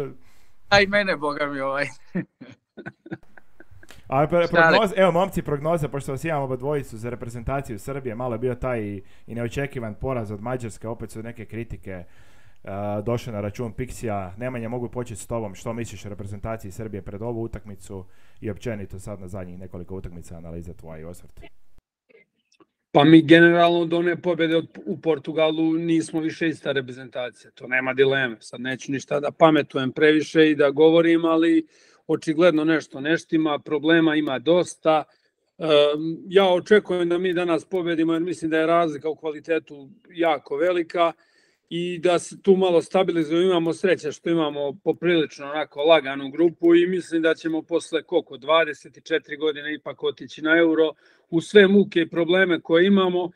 A i mene, boga mi ovaj. A prognoze, evo momci, prognoze, pošto vas imamo oba dvojicu za reprezentaciju Srbije, malo je bio taj i, i neočekivan poraz od Mađarske, opet su neke kritike uh, došle na račun Pixija. Nemanja, mogu početi s tobom, što misliš o reprezentaciji Srbije pred ovu utakmicu i općenito sad na zadnjih nekoliko utakmica, analiza tvoja i osvrt? Pa mi generalno do one pobjede u Portugalu nismo više ista reprezentacija, to nema dileme. Sad neću ništa da pametujem previše i da govorim, ali očigledno nešto neštima, problema ima dosta. Ja očekujem da mi danas pobedimo jer mislim da je razlika u kvalitetu jako velika i da se tu malo stabilizujemo. Imamo sreće što imamo poprilično onako laganu grupu i mislim da ćemo posle koliko dvadeset četiri godine ipak otići na Euro u sve muke i probleme koje imamo.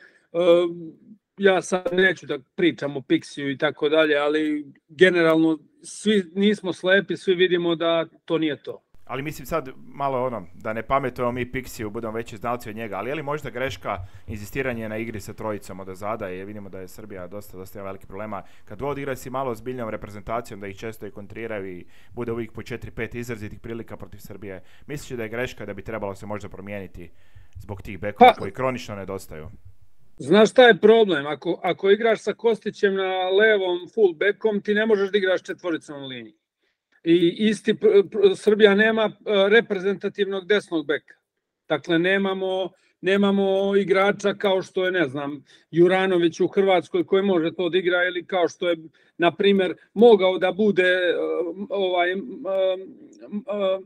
ja sad neću da pričam o Pixiju i tako dalje, ali generalno svi nismo slepi, svi vidimo da to nije to. Ali mislim sad malo ono, da ne pametujemo mi Pixiju, budemo veći znalci od njega, ali je li možda greška inzistiranje na igri sa trojicom od zada, jer vidimo da je Srbija dosta, dosta ima veliki problema. Kad god igra si malo ozbiljnijom reprezentacijom, da ih često i kontriraju i bude uvijek po četiri pet izrazitih prilika protiv Srbije, misliš da je greška da bi trebalo se možda promijeniti zbog tih bekova koji kronično nedostaju? Znaš šta je problem? Ako, ako igraš sa Kostićem na levom full backom, ti ne možeš da igraš četvoricom u liniji. I isti Srbija nema reprezentativnog desnog beka. Dakle, nemamo, nemamo igrača kao što je, ne znam, Juranović u Hrvatskoj koji može to da igra, ili kao što je, na primjer, mogao da bude ovaj,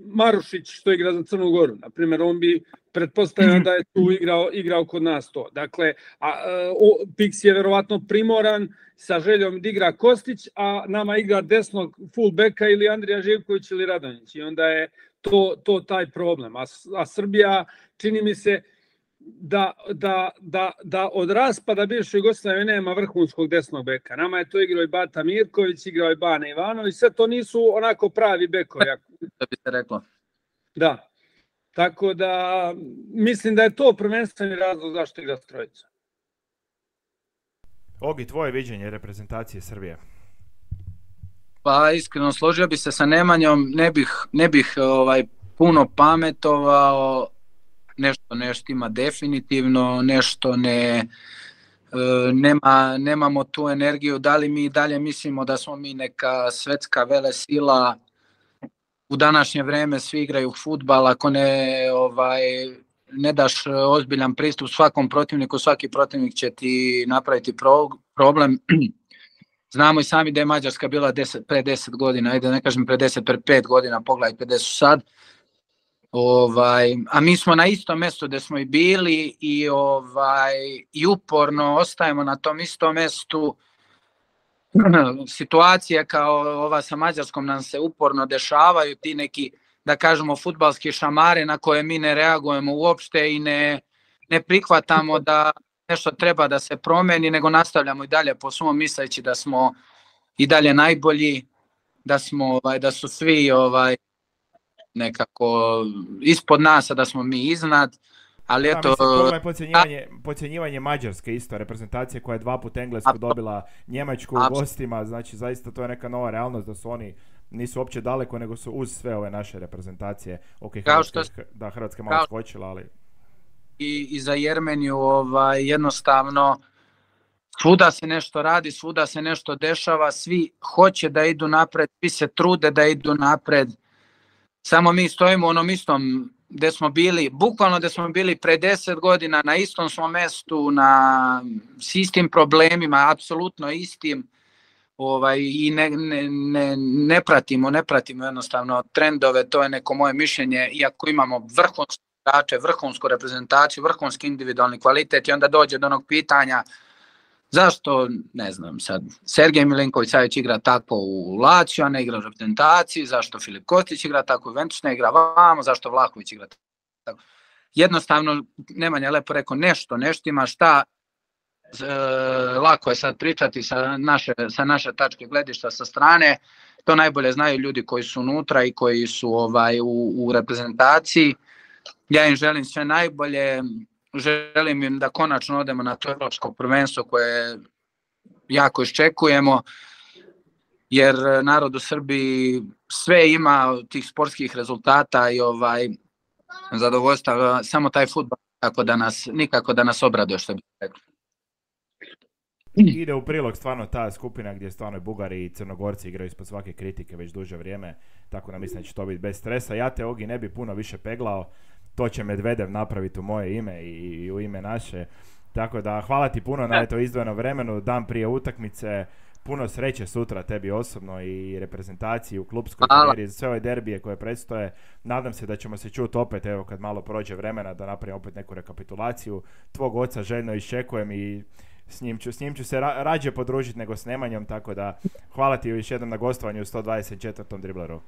Marušić što igra za Crnu Goru. Na primjer, on bi pretpostavljeno da je tu igrao, igrao kod nas to. Dakle, a, o, Pix je verovatno primoran sa željom da igra Kostić, a nama igra desnog fullbacka ili Andrija Živković ili Radonjić. I onda je to, to taj problem. A, a Srbija, čini mi se, da, da, da, da od raspada bivše Jugoslavije nema vrhunskog desnog beka. Nama je to igrao i Bata Mirković, igrao i Bane Ivanović, sve to nisu onako pravi bekovi. Da bi se reklo. Da. Tako da mislim da je to prvenstveni razlog zašto igra s trojicom. Ogi, tvoje viđenje reprezentacije Srbije? Pa iskreno složio bi se sa Nemanjom, ne bih, ne bih ovaj, puno pametovao, nešto nešto ima definitivno, nešto ne, nema, nemamo tu energiju, da li mi dalje mislimo da smo mi neka svetska velesila. U današnje vrijeme svi igraju fudbal, ako ne, ovaj, ne daš ozbiljan pristup svakom protivniku, svaki protivnik će ti napraviti pro, problem. Znamo i sami da je Mađarska bila deset, pre deset godina, ajde ne kažem pre deset, pre pet godina, pogledajte gde su sad. Ovaj, a mi smo na istom mjestu gdje smo i bili i, ovaj, i uporno ostajemo na tom istom mjestu. Situacije kao ova sa Mađarskom nam se uporno dešavaju, ti neki, da kažemo, fudbalski šamare na koje mi ne reagujemo uopšte i ne, ne prihvatamo da nešto treba da se promeni, nego nastavljamo i dalje po svom misleći da smo i dalje najbolji, da smo, ovaj, da su svi ovaj, nekako ispod nas, a da smo mi iznad. Ali da, eto, mislim, pogledaj podcjenjivanje, podcjenjivanje Mađarske isto, reprezentacije koja je dva put Englesku a, dobila Njemačku u gostima, znači zaista to je neka nova realnost da su oni nisu uopće daleko, nego su uz sve ove naše reprezentacije. Ok, Hrvatska, što, da, Hrvatska je malo skočila, ali... I, i za Jermeniju ovaj, jednostavno svuda se nešto radi, svuda se nešto dešava, svi hoće da idu napred, svi se trude da idu napred, samo mi stojimo u onom istom gde smo bili, bukvalno gde smo bili pre deset godina, na istom smo mestu, na, s istim problemima, apsolutno istim, ovaj, i ne, ne, ne, ne pratimo, ne pratimo jednostavno trendove, to je neko moje mišljenje, iako imamo vrhunske igrače, vrhunsku reprezentaciju, vrhunski individualni kvalitet i onda dođe do onog pitanja zašto, ne znam sad, Sergej Milinković-Savić igra tako u Lazio, a ne igra u reprezentaciji, zašto Filip Kostić igra tako u Juventus, ne igra vamo, zašto Vlahović igra tako. Jednostavno, Nemanja lepo rekao, nešto, nešto ima šta, e, lako je sad pričati sa naše, sa naše tačke gledišta sa strane, to najbolje znaju ljudi koji su unutra i koji su ovaj, u, u reprezentaciji. Ja im želim sve najbolje, želim im da konačno odemo na to evropsko prvenstvo koje jako iščekujemo, jer narod u Srbiji sve ima tih sportskih rezultata i ovaj zadovoljstva, samo taj fudbal tako da nas, nikako da nas obraduje, što bi rekli. Ide u prilog stvarno ta skupina gdje stvarno Bugari i Crnogorci igraju ispod svake kritike već duže vrijeme, tako da mislim da će to biti bez stresa. Ja te, Ogi, ne bi puno više peglao, to će Medvedev napraviti u moje ime i, i u ime naše, tako da hvala ti puno na eto izdvojenom vremenu, dan prije utakmice, puno sreće sutra tebi osobno i reprezentaciji u klubskoj karijeri, sve ove derbije koje predstoje. Nadam se da ćemo se čuti opet, evo kad malo prođe vremena, da napravimo opet neku rekapitulaciju. Tvog oca željno iščekujem i s njim ću, s njim ću se ra- rađe podružiti nego s Nemanjom, tako da hvala ti još jednom na gostovanju u sto dvadeset četvrtom Dribleru.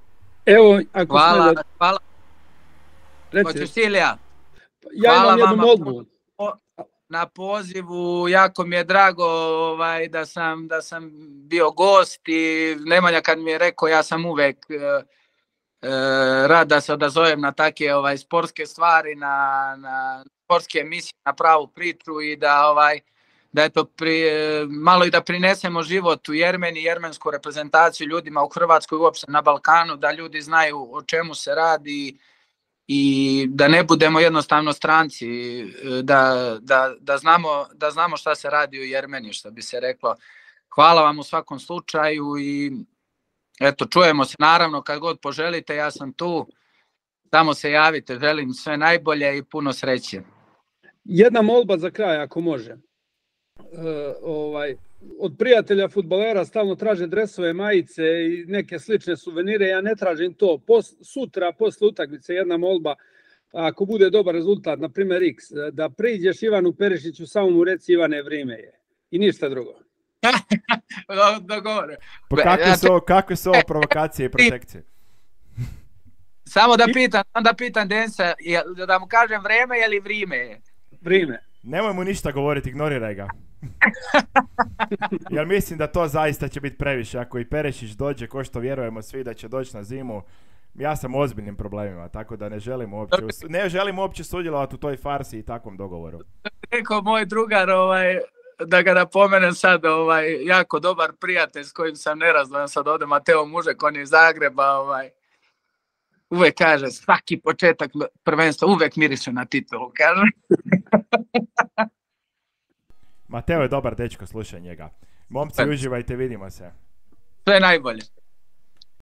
Evo, ako hvala, da... hvala. Hoćeš Silija? Ja hvala imam jednu molbu. na pozivu, jako mi je drago ovaj, da, sam, da sam bio gost i Nemanja kad mi je rekao, ja sam uvek e, e, rad da se odazovem na take ovaj, sportske stvari, na, na sportske emisije, na pravu priču i da ovaj, da eto pri, malo i da prinesemo život u Jermeni, jermensku reprezentaciju ljudima u Hrvatskoj, uopšte na Balkanu, da ljudi znaju o čemu se radi i da ne budemo jednostavno stranci, da, da, da, znamo, da znamo šta se radi u Jermeniji, što bi se reklo. Hvala vam u svakom slučaju i eto, čujemo se naravno kad god poželite, ja sam tu, samo se javite, želim sve najbolje i puno sreće. Jedna molba za kraj, ako može. E, ovaj, od prijatelja fudbalera stalno traže dresove, majice i neke slične suvenire, ja ne tražim to. Pos, sutra, posle utakmice, jedna molba, ako bude dobar rezultat, na primjer X, da priđeš Ivanu Perišiću, samo mu reci Ivane, vrijeme je. I ništa drugo. Dogovore. Pa kakve su, kakve su ovo provokacije i protekcije? Samo da pitam, da pitam Denisa, da mu kažem vreme ili vrime je? Vrime. Nemoj mu ništa govoriti, ignoriraj ga. Jer mislim da to zaista će biti previše. Ako i Perešić dođe, ko što vjerujemo svi da će doći na zimu, ja sam u ozbiljnim problemima, tako da ne želim uopće, ne želim uopće sudjelovati u toj farsi i takvom dogovoru. Rekao moj drugar, ovaj, da ga napomenem sad, ovaj, jako dobar prijatelj s kojim sam nerazdvojan sad ovdje, Mateo Mužek, on je iz Zagreba, ovaj, uvek kaže, svaki početak prvenstva uvek miriše na titulu, kaže. Mateo je dobar dečko, slušaj njega. Momci, uživajte, vidimo se. Sve najbolje.